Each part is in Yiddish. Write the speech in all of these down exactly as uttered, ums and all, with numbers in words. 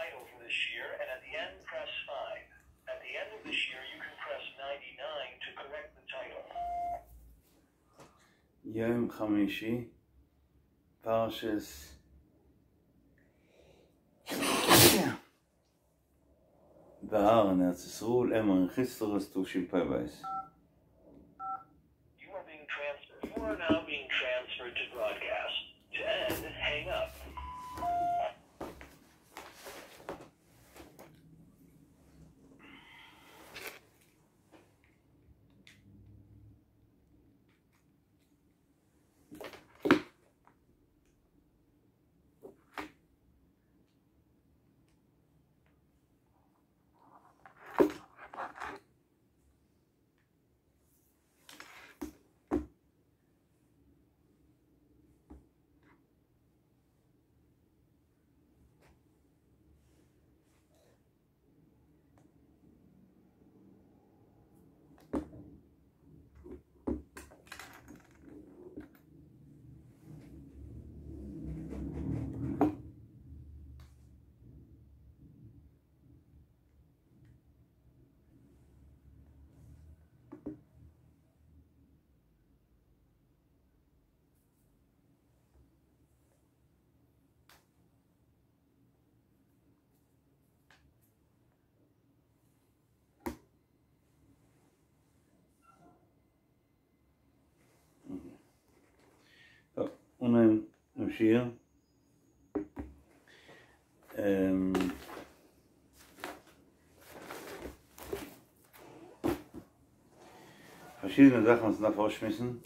title for this shiur and at the end press five. At the end of the shiur you can press ninety-nine to correct the title. יום חמישי, פרשס בהר ארץ ישראל, אמר חיסטרס תשפ"ב. You are being transferred. You are now being transferred to broadcast. To end, hang up. טוב, נמשיך. Verschiedene Sachen sind davor geschmissen.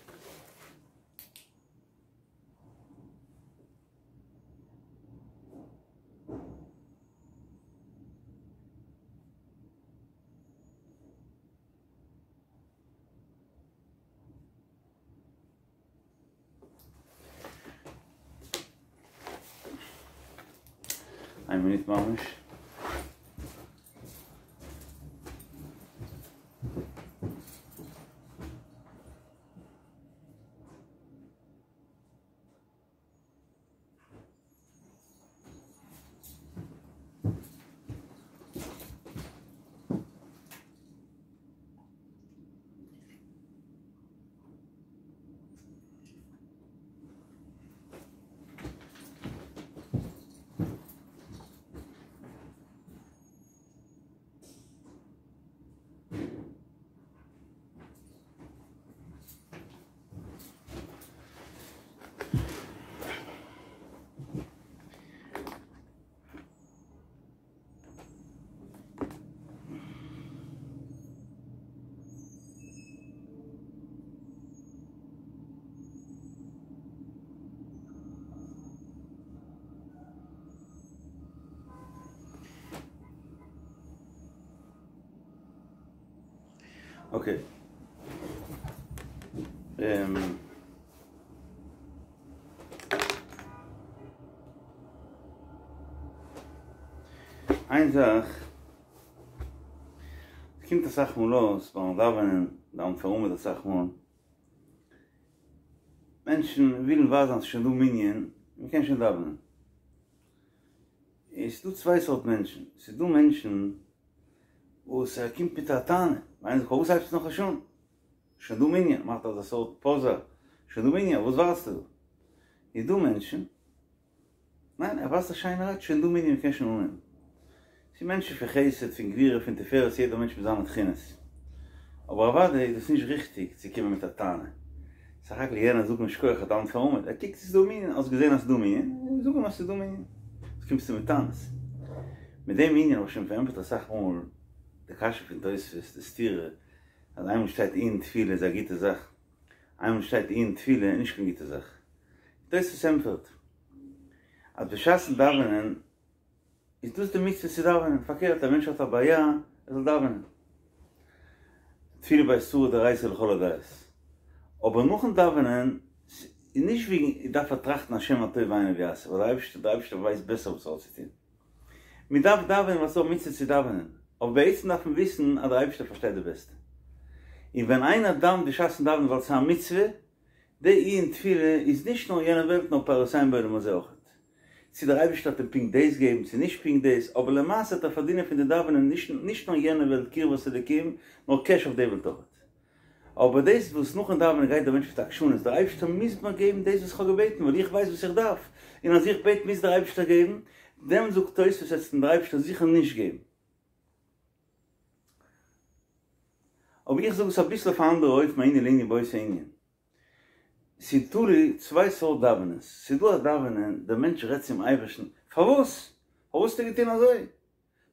Ein Minute ממש. אוקיי. איין זאך, עס קומט אסאך מאל אויס ביים דאווענען, דאווענט פאר עמוד אסאך מאל, מענטשן ווילן ווייזן אז ס'איז שוין דא מנין, מ'קען שוין דאווענען. עס איז דא צוויי סארט מענטשן, עס איז דא מענטשן וואס ער קומט מיט א טענה, איינער זאגט פארוואס הייבסטו נאכנישט אן? שוין דא מנין, מאכט אזא סארט פאזע, שוין דא מנין, וואס ווארטסטו דא? איז דא מענטשן, ניין, ער ווייזט א שיינע רייד, שוין דא מנין, מ'קען שוין אנהייבן. ס'איז מענטשן פון חסד, פון גבורה, פון תפארת, יעדער מענטש מיט זיינע תכונות. אבער אוודאי איז דאס נישט ריכטיג צו קומען מיט א טענה. סך הכל יענער זאגט אים שכוח ער דאווענט פאר עמוד, ער קוקט ס'איז דא מנין, האסט געזען אז ס'איז דא מנין, זאג אים אז ס'איז דא מנין. וואס קומסטו מיט טענות? מיט דעם ענין האב איך שוין פארענטפערט אסאך מאל די קשיא פון תוספות, די סתירה, אז איינמאל שטייט עיון תפילה איז א גוטע זאך, איינמאל שטייט עיון תפילה איז נישט קיין גוטע זאך. תוספות ענטפערט אז בשעת'ן דאווענען איז דאס די מצוה צו דאווענען, פארקערט א מענטש האט א בעיה ער זאל דאווענען, תפילה בעת צרה דאורייתא לכל הדעות, אבער נאכן דאווענען איז נישט וועגן דארף ער טראכטן השם מה טוב בעיניו יעשה, ווייל דער אייבערשטער ווייסט בעסער וואס ער האט צו טון, מען דארף דאווענען ווייל ס'איז א מצוה צו דאווענען, אבער בעצם דארף מען וויסן אז דער אייבערשטער פארשטייט די בעסטע, און ווען איינער דאווענט בשעת'ן דאווענען ווייל ס'איז א מצוה, די עיון תפילה איז נישט נאר יענע וועלט נאר פירותיהן בעולם הזה אויכעט. צו דער אייבערשטער וועט אים פונקט דאס געבן צו נישט פונקט דאס, אבער למעשה וועט ער פארדינען פון די דאווענען נישט נישט נאר יענע וועלט קרבת אלוקים, נאר קעש אויף די וועלט אויך. אבער דאס וואס נאכן דאווענען גייט דער מענטש מיט עקשנות, דער אייבערשטער מוז מיר געבן דאס וואס איך האב געבעטן, ווייל איך ווייס וואס איך דארף, און אז איך בעט מוז דער אייבערשטער געבן, דעם זאגט תוספות וועט אים דער אייבערשטער זיכער נישט געבן. אבער איך זאג עס אביסל אויף א אנדערע אופן מענין לענין באותו ענין. ס'איז תלוי צוויי סארט דאווענענס, ס'איז דא א דאווענען דער מענטש רעדט צום אייבערשטן, פארוואס? פארוואס האסטו געטון אזוי?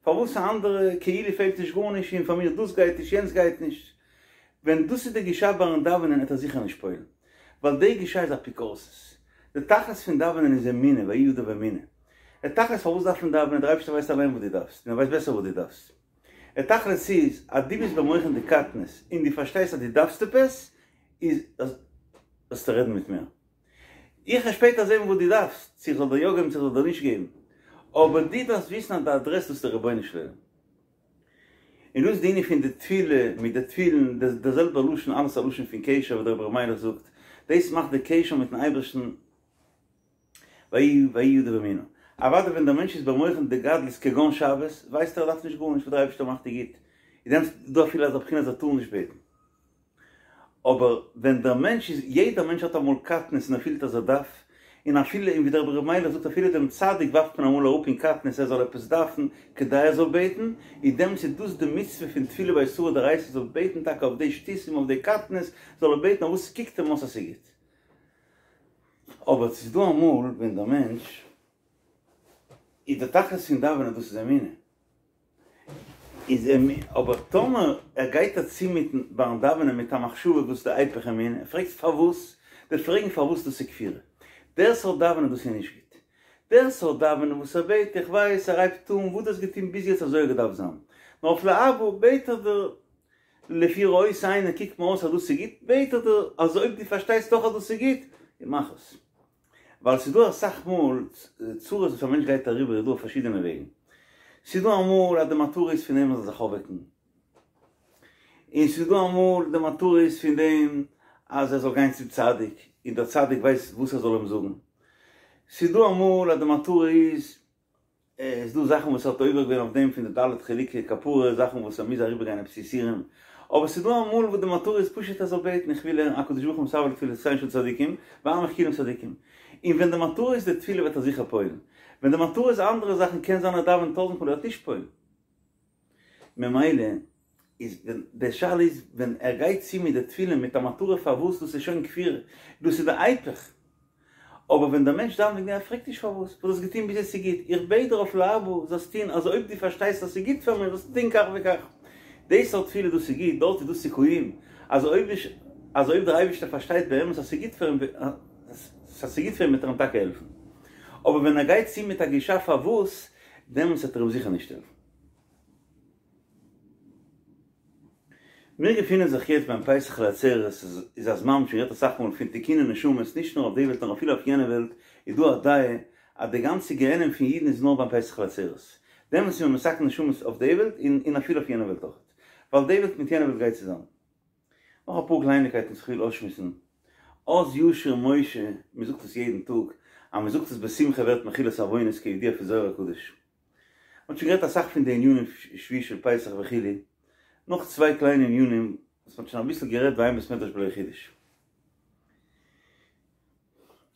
פארוואס א אנדערע כאילו פעלט נישט גארנישט און פאר מיר דאס גייט נישט יענץ גייט נישט? ווען דאס איז די גישה ביים דאווענען וועט ער זיכער נישט פועל'ן, ווייל די גישה איז אפיקורסות. די תכלית פון דאווענען איז אמונה, ויהי ידיו אמונה. די תכלית פארוואס דארף מען דאווענען, דער אייבערשטער ווייסט אליין וואס דו דארפסט, און ער ווייסט בעסער וואס דו דארפסט. די תכלית איז אז דו ביסט במוחין דקטנות און דו פארשטייסט אז דו דארפסט עפעס, איז זאלסטו רעדן מיט מיר. איך וועל שפעטער זען וואס דו דארפסט, צו איך זאל דיר יא געבן צו איך זאל דיר נישט געבן. אבער דו דארפסט וויסן אז די אדרעס דאס איז דער רבונו של עולם. און דאס איז די ענין פון די תפילה מיט די תפילין, דער זעלבער לשון, אלעס א לשון פון קשר ווי דער רבי ר' מיילעך זאגט, דאס מאכט די קשר מיטן אייבערשטן, ויהי ויהי ידיו אמונה. אוודאי ווען דער מענטש איז במוחין דגדלות כגון שבת, ווייסט ער ער דארף נישט גארנישט וואס דער אייבערשטער מאכט איז גוט, איז דעמאלטס דא אפילו אזא בחינה אז ער טאר נישט בעטן. אבער ווען דער מענטש איז, יעדער מענטש האט אמאל קטנות און ער פילט אז ער דארף, און אפילו, און ווי דער רבי ר' מיילעך זאגט אפילו דעם צדיק ווארפט מען אמאל אראפ אין קטנות ער זאל עפעס דארפן כדי ער זאל בעטן, איז דעמאלטס איז דאס די מצוה פון תפילה באיסורא דאורייתא זאל בעטן טאקע אויף די שטותים אויף די קטנות זאל ער בעטן אויף וואס ס'קוקט אים אויס אז ס'איז גוט. אבער ס'איז דא אמאל ווען דער מענטש איז די תכלית פון דאווענען דאס איז אמונה, איז אבער טאמער ער גייט דערצו מיטן ביים דאווענען מיט א מחשבה וואס איז די היפך אמונה, ער פרעגט פארוואס, די פרעגן פארוואס דאס איז כפירה, דער סארט דאווענען דאס איז נישט גוט, דער סארט דאווענען וואס ער בעט איך ווייס ער הייבט אן וואס דו האסט געטון ביז יעצט אזוי האט געדארפט זיין, נאר אויף להבא בעט ער דיר לפי ראות עיני קוקט מיר אויס אז דאס איז גוט, בעט ער דיר אז אויב דו פארשטייסט דאך אז דאס איז גוט, מאך עס. ווייל ס'איז דא אסאך מאל צרות וואס א מענטש גייט אריבער איז דא אויף פארשידענע וועגן. ס'איז דא אמאל אז די מטרה איז פון דעם ער זאל זיך אויפוועקן. און ס'איז דא אמאל די מטרה איז פון דעם אז ער זאל גיין צום צדיק, און דער צדיק ווייסט וואס ער זאל אים זאגן. ס'איז דא אמאל אז די מטרה איז עס איז דא זאכן וואס ער האט עובר געווען אויף דעם פון די ד' חילוקי כפרה, זאכן וואס ער מוז אריבער גיין עפעס יסורים, אבער ס'איז דא אמאל וואס די מטרה איז פשוט ער זאל בעטן איך וויל הערן הקדוש ברוך הוא מתאוה לתפילותיהן של צדיקים ועמך כולם צדיקים, און ווען די מטרה איז די תפילה וועט ער זיכער פועל'ן, ווען די מטרה איז אנדערע זאכן קען זיין ער דאווענט טויזנט מאל ער וועט נישט פועל'ן. ממילא איז ווען די שאלה איז ווען ער גייט צו מיט די תפילה מיט א מטרה פארוואס דאס איז שוין כפירה, דאס איז די היפך, אבער ווען דער מענטש דאווענט וועגן דעם ער פרעגט נישט פארוואס, וואס דו האסט געטון ביז יעצט איז גוט, איך בעט דיר אויף להבא זאלסט טון אז אויב דו פארשטייסט אז ס'איז גוט פאר מיר זאלסטו טון כך וכך, די סארט תפילה דאס איז גוט, דארט איז דא סיכויים אז אויב אז אויב דער אייבערשטער פארשטייט באמת אז ס'איז גוט פאר אים אז ס'איז גוט פאר אים וועט ער אים טאקע העלפן, אבער ווען ער גייט צו מיט א גישה פארוואס, דעמאלטס וועט ער אים זיכער נישט העלפן. מיר געפינען זיך יעצט ביים פסח לעצרת, איז א זמן שוין גערעדט אסאך מאל פון תיקוני נשמות, נישט נאר אויף די וועלט נאר אפילו אויף יענע וועלט, איז דא א דעה אז די גאנצע גיהנום פון אידן איז נאר ביים פסח לעצרת, דעמאלטס איז מען מתקן נשמות אויף די וועלט און אפילו אויף יענע וועלט אויך, ווייל די וועלט מיט יענע וועלט גייט צוזאמען. נאך אפאר קלייניקייטן וואס איך וויל אויסשמועסן, אז ישיר משה, מען זאגט עס יעדן טאג, אז מען זאגט עס בשמחה ווערט מחילת עוונות כידוע פון זוהר הקדוש. מ'האט שוין גערעדט אסאך פון די ענינים שביעי של פסח וכו', נאך צוויי קליינע ענינים וואס מ'האט שוין אביסל גערעדט ואין בית מדרש בלא חידוש.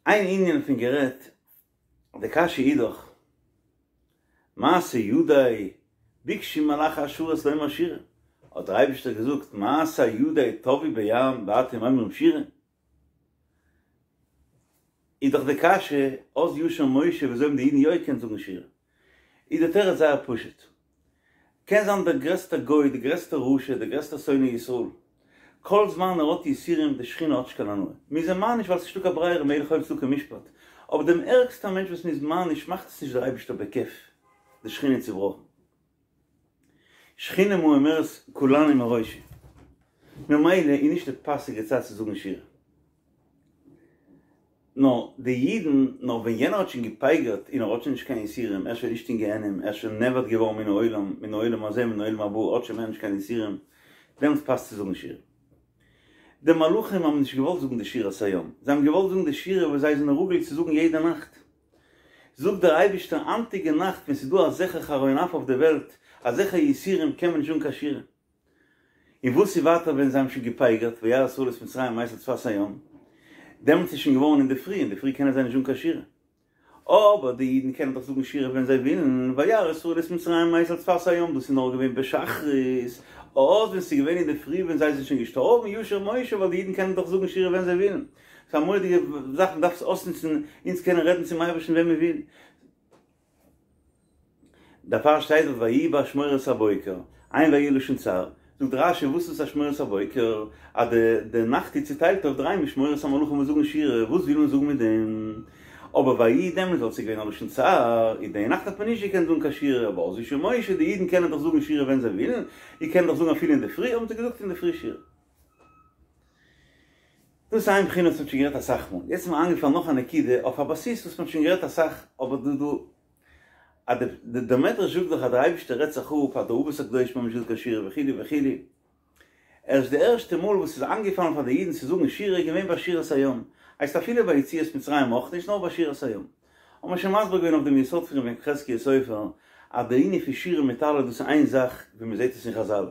איין ענין האט מען גערעדט, די קשיא איז דאך, מעשה ידי ביקשו מלאכי השרת לומר שירה, האט דער אייבערשטער געזאגט מעשה ידי טבעו בים ואתם אומרים שירה? איז דאך די קשיא, אז ישיר משה וויאזוי האבן די אידן יא געקענט זאגן שירה? איז די תירוץ זייער פשוט. קען זיין דער גרעסטער גוי, דער גרעסטער רשע, דער גרעסטער שונא ישראל, כל זמן ער האט יסורים, די שכינה האט נישט קיין הנאה. מ'איז אים מעניש ווייל ס'נישטא קיין ברירה מלך אוהב צדקה ומשפט. אבער דעם ערגסטער מענטש וואס מ'איז מעניש מאכט עס נישט דער אייבערשטער בכיף, די שכינה איז צובראכן. שכינה ממורמרת קלני מראשי. ממילא איז נישט די פאסיגע צייט צו זאגן שירה. נאר די אידן, נאר ווען יענער האט שוין געפייגערט און ער האט שוין נישט קיין יסורים, ער איז שוין נישט אין גיהנום, ער איז שוין נאבד געווארן מן העולם, מן העולם הזה מן העולם הבא, ער האט שוין מער נישט קיין יסורים, דעמאלטס פאסט צו זאגן שירה. די מלאכים האבן נישט געוואלט זאגן די שירת הים, זיי האבן געוואלט זאגן די שירה וואס זיי זענען רגיל צו זאגן יעדע נאכט. זאגט דער אייבערשטער היינטיגע נאכט ווען ס'איז דא אזעלכע חרון אף אויף די וועלט, אזעלכע יסורים קען מען נישט זאגן קיין שירה. און וואס איז ווייטער ווען זיי האבן שוין געפייגערט וירא ישראל את מצרים מת על שפת הים, דעמאלטס איז שוין געווארן אינדערפרי, אינדערפרי קענען זיי נישט זאגן קיין שירה. אבער די אידן קענען דאך זאגן שירה ווען זיי ווילן, וירא ישראל את מצרים מת על שפת הים, דאס איז נאר געווען בשחרית, אז ווען ס'איז געווען אינדערפרי ווען זיי זענען שוין געשטארבן, ישיר משה, ווייל די אידן קענען דאך זאגן שירה ווען זיי ווילן. ס'איז א מורא'דיגע זאך, מ'דארף עס אויסנוצן, אונז קענען רעדן צום אייבערשטן ווען מ'וויל. דערפאר שטייט דארט ויהי באשמורת הבוקר, אין ויהי לשון צער, זאגט רש"י וואס איז אשמורת הבוקר, אז די די נאכט איז צוטיילט אויף דריי משמורות המלאכים וואס זאגן שירה, וואס וויל מען זאגן מיט דעם? אבער ויהי דעמאלטס ווייל ס'איז געווען א לשון צער, איז די נאכט האט מען נישט געקענט זאגן קיין שירה, אבער אז ישיר משה, די אידן קענען דאך זאגן שירה ווען זיי ווילן, איר קענט דאך זאגן אפילו אינדערפרי, האבן זיי געזאגט אינדערפרי שירה. דאס איז איין בחינה וואס מ'האט שוין גערעדט אסאך מאל, יעצט איז מיר איינגעפאלן נאך א נקודה אויף א בסיס וואס מ'האט שוין גערעדט אסאך, אבער דא דא אז די דער מדרש זאגט דאך אז דער אייבערשטער רעדט זיך אפ אז די אבות הקדושים האבן נישט געזאגט קיין שירה וכו' וכו', ערשט די ערשטע מאל וואס ס'איז איינגעפאלן פאר די אידן צו זאגן שירה איז געווען ביי שירת הים, הייסט אפילו ביי יציאת מצרים אויך נישט נאר ביי שירת הים. האט מען שוין מסביר געווען אויף דעם יסוד פון רבי יחזקיה סופר אז די ענין פון שירה מיט הלל דאס איז איין זאך ווי מ'זעט עס אין חזל,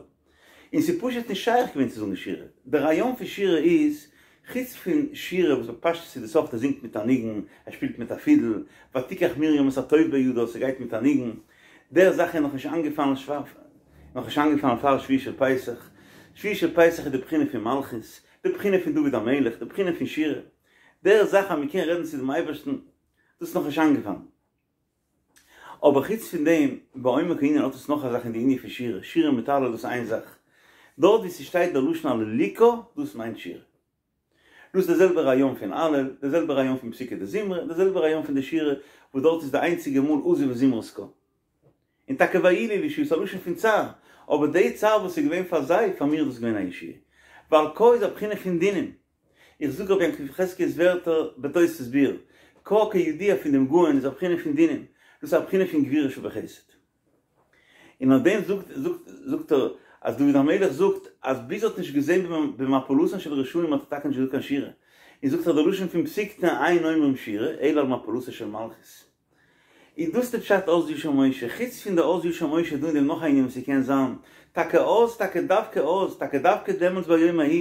און ס'איז פשוט נישט שייך געווען צו זאגן שירה. דער רעיון פון שירה איז, חוץ פון שירה וואס בפשטות איז די סארט ער זינגט מיט א ניגון, ער שפילט מיט א פידל, ותיקח מרים את התוף בידה, ס'גייט מיט א ניגון, דער זאך איז נאכנישט איינגעפאלן נאכנישט איינגעפאלן פאר שביעי של פסח. שביעי של פסח איז די בחינה פון מלכות, די בחינה פון דוד המלך, די בחינה פון שירה. דער זאך אז מ'קען רעדן צו דעם אייבערשטן, דאס איז נאכנישט איינגעפאלן. אבער חוץ פון דעם, בעומק הענין האט עס נאך א זאך אין די ענין פון שירה, שירה מיט הלל דאס איז איין זאך. דארט ווי ס'שטייט דער לשון הללוקה, דאס מיינט שירה. דאס איז דער זעלבער רעיון פון הלל, דער זעלבער רעיון פון פסוקי דזמרה, דער זעלבער רעיון פון די שירה, וואס דארט איז די איינציגע מאל עזוב זמרת קה. און טאקע ויהי לי לישועה איז א לשון פון צער, אבער די צער וואס איז געווען פאר זיי, פאר מיר איז דאס געווען א ישועה. ווייל קה איז א בחינה פון דינים. איך זאג רבי יעקב יחזקיה'ס ווערטער בתוספות ביאור, קה כידוע פון דעם גאון איז א בחינה פון דינים, דאס איז א בחינה פון גבורה שבחסד. און אויף דעם זאגט זאגט ער אז דוד המלך זאגט אז ביז ער האט נישט געזען במפלתן של רשעים האט ער טאקע נישט געזאגט קיין שירה, און זאגט ער די לשון פון פסיקתא אין אומרים שירה אלא על מפלתו של מלכות. איז דאס די פשט אז ישיר משה? חוץ פון די אז ישיר משה איז דא אין דעם נאך א ענין וואס ס'קען זיין, טאקע אז, טאקע דווקא אז, טאקע דווקא דעמאלטס ביום ההוא,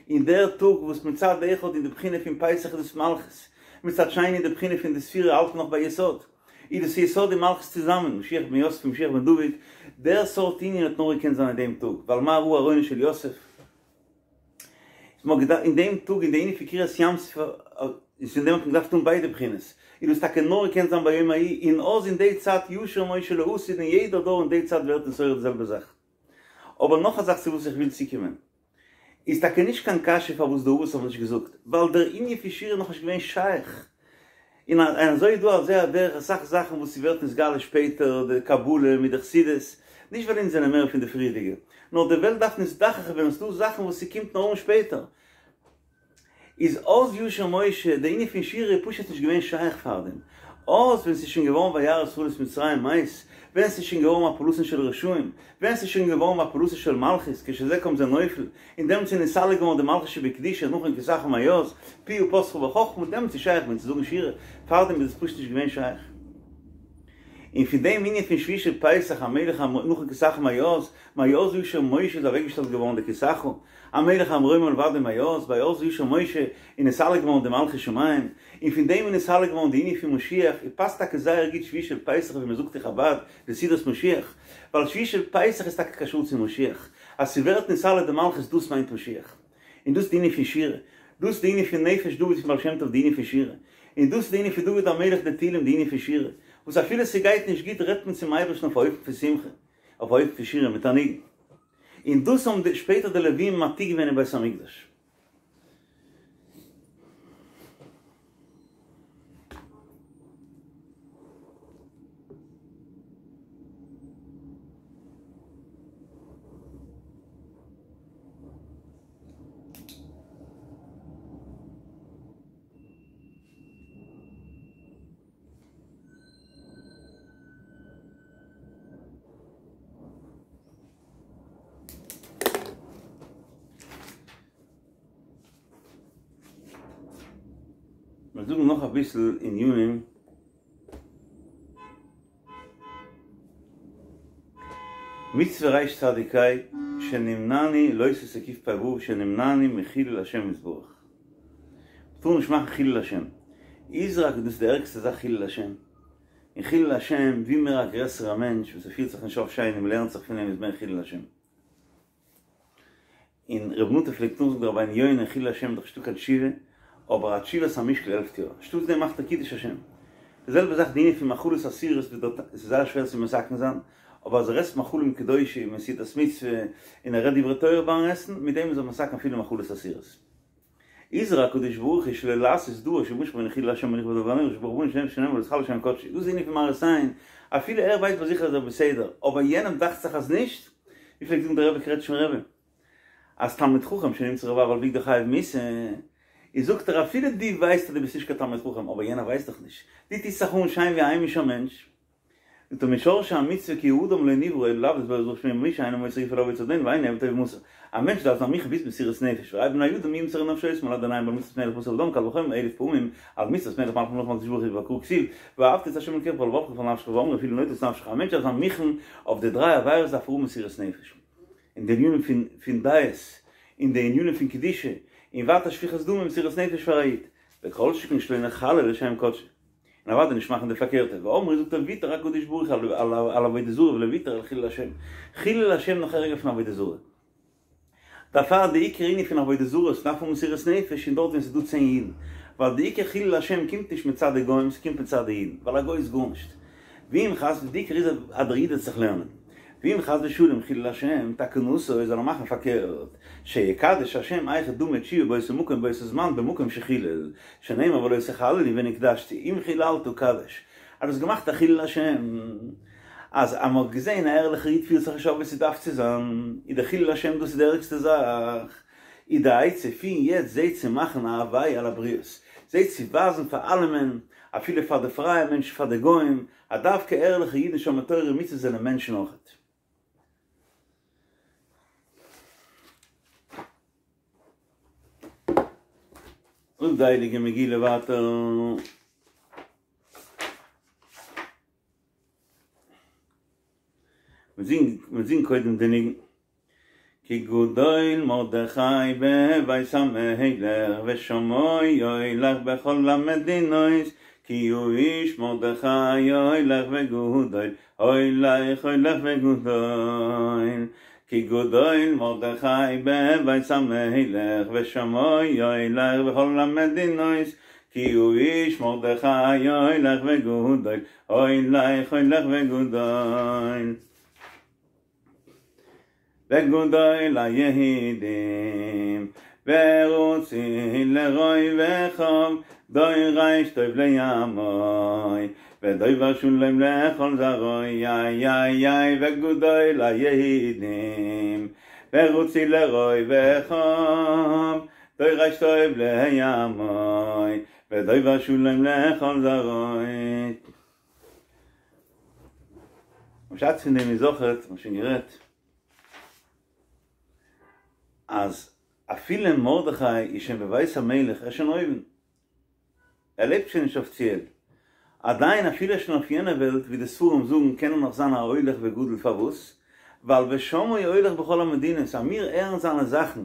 אין דער טאג וואס מצד אחד אין די בחינה פון פסח איז דאס מלכות, מצד שני אין די בחינה פון די ספירה האלט נאך ביי יסוד, איז דאס יסוד און מלכות צוזאמען, משיח בן יוסף און משיח בן דוד, דער סארט ענין האט נאר געקענט זיין אין דעם טאג, ווייל מה ראה ארונו של יוסף? מ'האט געדארפט אין דעם טאג אין די ענין פון קריעת ים סוף איז פון דעם האט מען געדארפט האבן ביידע בחינות, איז דאס טאקע נאר געקענט זיין ביום ההוא, און אז אין די צייט ישיר משה לעתיד אין יעדער דור אין די צייט ווערט נתעורר די זעלבע זאך. אבער נאך א זאך צו וואס איך וויל צוקומען, איז טאקע נישט קיין קשיא פארוואס די אבות האבן נישט געזאגט, ווייל דער ענין פון שירה איז נאכנישט געווען שייך, און אזוי איז דא על זה הדרך אסאך זאכן וואס ס'ווערט נתגלה שפעטער, די קבלה מיט די חסידות, נישט ווייל אונז זענען מער פון די פריערדיגע, נאר די וועלט דארף נזדכך ווערן, ס'דא זאכן וואס ס'קומט נאר אן שפעטער. איז אז ישיר משה, די ענין פון שירה איז פשוט נישט געווען שייך פארדעם. אז ווען ס'איז שוין געווארן וירא ישראל את מצרים מת, ווען ס'איז שוין געווארן מפלתן של רשעים, ווען ס'איז שוין געווארן מפלתו של מלכות, כשזה קם זה נופל, און דעמאלטס איז נתעלה געווארן די מלכות שבקדושה נכון כסאך מאז, פיה פתחה בחכמה, דעמאלטס איז שייך געווען צו זאגן שירה, פארדעם איז עס פשוט נישט געווען שייך. און פון דעם ענין פון שביעי של פסח המלך נכון כסאך מאז, מאז ישיר משה איז אוועקגעשטעלט געווארן די כסאך, המלך המרומם לבדו מאז, ביי אז ישיר משה איז נתעלה געווארן די מלכות שמים, און פון דעם איז נתעלה געווארן די ענין פון משיח, און פאסט טאקע זייער גוט שביעי של פסח ווי מ'זאגט אין חבד די סעודת משיח, ווייל שביעי של פסח איז טאקע קשור צו משיח, אז ס'ווערט נתעלה די מלכות דאס מיינט משיח, און דאס איז די ענין פון שירה, דאס איז די ענין פון נפש דוד פון בעל שם טוב די ענין פון שירה, און דאס איז די ענין פון דוד המלך די תהילים די ענין פון שירה, וואס אפילו ס'גייט נישט גוט רעדט מען צום אייבערשטן אויף א אופן פון שמחה, אויף א אופן פון שירה מיט א ניגון. און דאס האבן שפעטער די לווים מעתיק געווען אין בית המקדש. מיר זאגן נאך אביסל ענינים מצוה ריש צדיק ה' שנמנעני לא תעשה קוף פ"ו שנמנעני מחילול השם יתברך. מ'טאר נישט מאכן חילול השם. איז רק דאס די ערגסטע זאך חילול השם. און חילול השם ווי מער א גרעסערע מענטש וואס ער פירט זיך נישט אויף שיין און מ'לערנט זיך פון אים איז מער חילול השם. און ר' נטע פלעגט נאכזאגן די רבינו יונה חילול השם איז דאך נישטא קיין תשובה, אבער א תשובת המשקל העלפט יא, אנשטאטס דעם מאכט ער קידוש השם. די זעלבע זאך די ענין פון מאכלות אסורות וואס דארט עס איז זייער שווער צו מתקן זיין, אבער אז ער עסט מאכלים קדושים און סעודת מצוה און ער רעדט דברי תורה ביים עסן, מיט דעם איז ער מתקן אפילו מאכלות אסורות. הזהיר הקדוש ברוך הוא שלא לעשות דבר שימשך ממנו חילול השם ונכבד דבר הנורא שברוך הוא שנאמר ולא תחלל שם קדשי. דאס איז די ענין פון מראית עין, אפילו ער ווייסט ביי זיך אז ער איז בסדר, אבער יענעם דאכט זיך אז נישט, ווי פלעגט זאגן דער רבי קרעטשמער רבי, אז תלמיד חכם שנמצא רבב על בגדו חייב מיתה, איז זאגט ער אפילו דו ווייסט אז דו ביסט נישט קיין תלמיד חכם אבער יענער ווייסט דאך נישט, דו טוסט זיך אן שיין ווי א היימישער מענטש, זאגט ער משרשי המצוה כי האדם לא נברא אלא לעבוד את בוראו יתברך שמו מי שאינו מוסר גופו לעבודת אדונו ואינו עבד טוב ומסור, א מענטש דארף זיין מוכן ביז מסירות נפש וראה בני אדם מי ימסרנו נפשותם על אדוניהם ועל מצוות מלך בשר ודם קל וחומר אלף פעמים על מצוות מלך מלכי המלכים הקדוש ברוך הוא וקרא כתיב ואהבת את ה' אלוקיך בכל לבבך ובכל נפשך ואמרו אפילו נוטה את נפשך א מענטש דארף זיין מוכן אויף די דריי עבירות דארף ער האבן מסירות נפש. אין די ענינים פון פון דעות, אין די ענינים פון קדושה, און ווייטער שפיכות דמים מסירות נפש פאר א איד, וכל שכן שלא נחלל לשם קדשו, און אוודאי נישט מאכן די פארקערטע, ואמרו זאגט ער ויתר הקדוש ברוך הוא על עבודה זרה ולא ויתר על חילול השם, חילול השם נאך ערגער פון עבודה זרה. דערפאר די עיקר ענין פון עבודה זרה איז דארף האבן מסירות נפש און דארט ווען ס'איז דא צען אידן, ווייל די עיקר חילול השם קומט נישט מצד די גוים ס'קומט מצד די אידן, ווייל א גוי איז גארנישט, ואם חס די עיקר איז אז דער איד וועט זיך לערנען, ואם חס ושלום חילול השם תקנתו זאל ער מאכן פארקערט, שיקדש השם היכי דמי תשובה באותו מקום באותו זמן במקום שחילל, שנאמר ולא תחללו ונקדשתי, אם חיללת קדש, אז דו האסט געמאכט א חילול השם, אז אז מ'האט געזען א ערליכער איד פירט זיך נישט אויף ווי ס'דארף צו זיין, איז די חילול השם דאס איז די ערגסטע זאך, איז די עצה פון יעצט זע צו מאכן א הוויה על הבריות, זע צו ווייזן פאר אלעמען, אפילו פאר די פרייע מענטשן פאר די גוים, אז דווקא ערליכע אידן שומרי תורה ומצוות זענען מענטשן אויכעט. זאגט די הייליגע מגילה ווייטער. מען זינגט קודם די ניגון. כי גדול מרדכי בבית המלך ושמו הולך בכל המדינות כי האיש מרדכי הולך וגדול הולך הולך וגדול כי גדול מרדכי בבית המלך ושמו הולך בכל המדינות כי האיש מרדכי הולך וגדול הולך הולך וגדול וגדול ליהודים ורוצי לרוי וחוב דורש טוב לעמו ודובר שלום לכל זרעו יא יא יא וגדול ליהודים ורוצי לרוי וחוב דורש טוב לעמו ודובר שלום לכל זרעו פשט פון דעם איז אויכעט, מ'האט שוין גערעדט, אז אפילו מרדכי איז שוין בבית המלך, ער איז שוין אויבן, ער לעבט שוין נישט אפיציעל, עדיין אפילו ער איז שוין אויף יענע וועלט, ווי די ספרים זאגן, קען ער נאך זיין א הולך וגדול, פארוואס? ווייל ושמו הולך בכל המדינות, אז מיר הערן זיינע זאכן,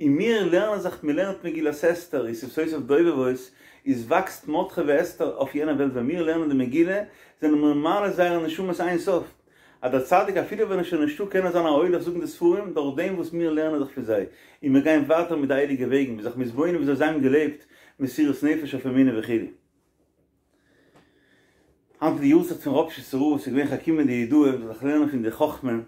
און מיר לערנען זיך, מען לערנט מגילת אסתר, ושפתותיו דובבות, איז וואקסט מרדכי ואסתר אויף יענע וועלט, ווען מיר לערנען די מגילה, זענען מיר מעלה זייערע נשמות אין סוף. אז דער צדיק אפילו ווען ער איז שוין נישטא קען ער זיין א הולך זאגן די ספרים דורך דעם וואס מיר לערנען זיך פון זיי, און מיר גייען ווייטער מיט די הייליגע וועגן, מ'איז זיך מתבונן וויאזוי זיי האבן געלעבט, מסירות נפש אויף אמונה וכו'. היינט איז די יארצייט פון ראפשיצער רב, ס'איז געווען חכימא דיהודאי, מ'זאל זיך לערנען פון די חכמה,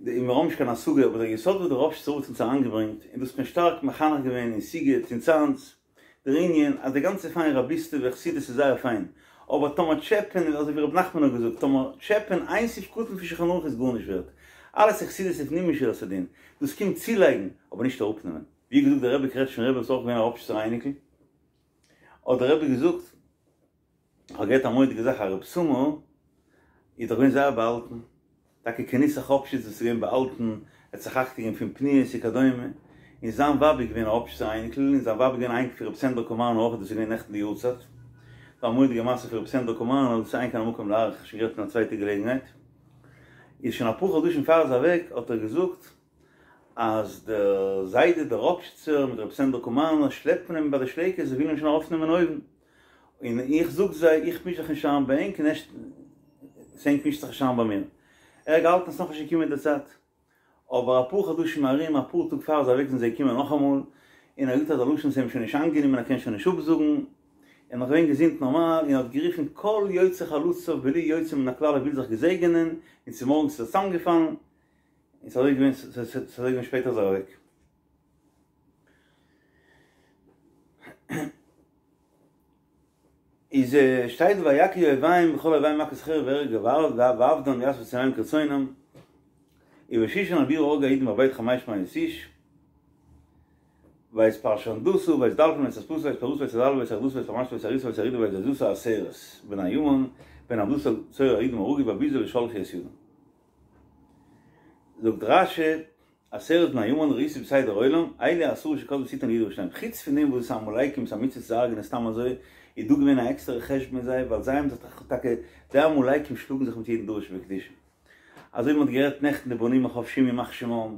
די מיר האבן נישט קיין השגה, אבער דער יסוד וואס דער ראפשיצער רב האט אונז אריינגעברענגט, און דאס האט מען שטארק מחנך געווען אין סיגוט אין צאנז, דער ענין אז די גאנצע פיין רביסטעווע וחסידות איז זייער פיין, אבער טאמער טשעפען, אזוי ווי ר' נחמן האט געזאגט, טאמער טשעפען איין סעיף קטן פון שולחן ערוך איז גארנישט ווערט, אלעס איז חסידות לפנים משורת הדין, דאס קומט צולייגן, אבער נישט אראפנעמען. ווי געזאגט דער רבי קרעטשניפער רבי וואס איז אויך געווען א ראפשיצער אייניקל, האט דער רבי געזאגט, כ'האב געהערט א מורא'דיגע זאך, אז רב סמא איז דאך געווען זייער באהאלטן, טאקע כנוסח ראפשיץ וואס איז געווען באהאלטן, ער האט זיך אכטונג געגעבן פון פניות וכדומה, און זיין ווייב איז געווען א ראפשיצער אייניקל, און זיין ווייב איז געווען א אייניקל פון רבי סענדער קאמארנא אויך, דאס איז געווען נעכטן די יארצייט, דא א מורא'דיגע מעשה פון רבי סענדער קאמארנא, דאס איז אין כאן המקום להאריך, שוין גערעדט אין א צווייטע געלעגנהייט. איז שוין אפאר חדשים פאר ער איז אוועק האט ער געזאגט אז דער זיידע דער ראפשיצער מיט רבי סענדער קאמארנער שלעפן אים ביי די שלייקעס זיי ווילן אים שוין ארויפנעמען אויבן און איך זאג זיי איך מיש זיך נישט איין ביי ענק און ענק מישט זיך נישט איין ביי מיר ער האט געהאלטן עס איז נאכנישט געקומען די צייט אבער אפאר חדשים ארום אפאר טאג פאר ער איז אוועק זענען זיי געקומען נאכאמאל און ער האט געזאגט אזא לשון ס'איז אים שוין נישט איינגענומען ער קען שוין נישט אפזאגן ער איז נאך געווען געזונט נארמאל און האט גערופן כל יוצאי חלציו בלי יוצא מן הכלל ער וויל זיך געזעגענען און צומארגנס איז ער צוזאמגעפאלן און ס'איז אזוי געווען ס'איז אזוי געווען שפעטער איז ער אוועק. איז שטייט ויכו אויביהם בכל אויביהם מכות חרב והרג ואבדן ויעשו בשונאיהם כרצונם ובשושן הבירה הרגו היהודים בבית חמש מאות איש ואת פרשנדתא ואת דלפון ואת אספתא ואת פרתא ואת ארדלה ואת ארדתא ואת פרמשתא ואת אריתא ואת ארידא ואת זיזתא עשרת בני המן בן המדתא צורר היהודים הרגו והביזה לא שלחו את ידם זאגט רש"י עשרת בני המן ראיתי בסדר עולם, אלו עשרה שכתבו שטנה על יהודה וירושלים, חוץ פון דעם וואס עמלקים איז א מצוה צו הרג'נען סתם אזוי, איז דא געווען א עקסטערע חשבון מיט זיי, ווייל זיי האבן זיך דאך טאקע, די עמלקים שלאגן זיך מיט יעדן דבר שבקדושה. אזוי ווי מען האט גערעדט נעכטן די בנים החפשים ימח שמם,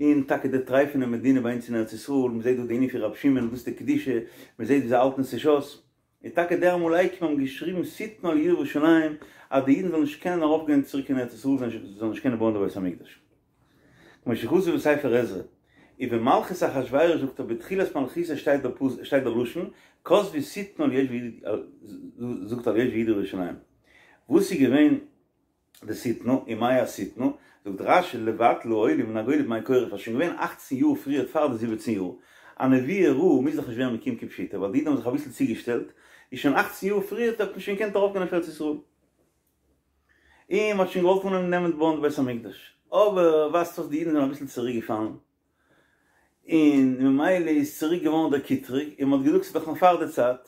און טאקע די טרייפענע מדינה ביי אונז אין ארץ ישראל, מען זעט דא די ענין פון רבי שמעון, דאס איז די קדושה, מען זעט ווי זיי האלטן עס נישט אויס. און טאקע די עמלקים האבן געשריבן שטנה על יהודה וירושלים אז די אידן זאלן נישט קענען ארויפגיין צוריק אין ארץ ישראל, זיי זאלן נישט קענען בויען די בית המקדש. כמו שכתוב בספר עזרא, ובמלכות אחשורוש זאגט ער בתחילת מלכותו שטייט דער פסוק שטייט דער לשון כתבו שטנה על יושבי זאגט על יושבי יהודה וירושלים. וואס איז געווען די שטנה ומאי השטנה? זאגט רש"י לבטל העולים מן הגולה בימי כורש איז שוין געווען אַכצן יאר פריערט פאר די זיבעצן יאר, א נבואה רעה מוז דאך נישט ווערן מקוים כפשוטו ווייל די אידן האבן זיך אביסל צוגעשטעלט, איז שוין אַכצן יאר פריערט האט מען שוין געקענט ארויפגיין אויף ארץ ישראל. און מ'האט שוין געוואלט אנהויבן נעמען בויען די בית המקדש, אבער ווייזט אויס די אידן זענען אביסל צוריק געפאלן, און ממילא איז צוריק געווארן דער קטרוג, און מ'האט געזאגט ס'איז דאך נאך פאר די צייט,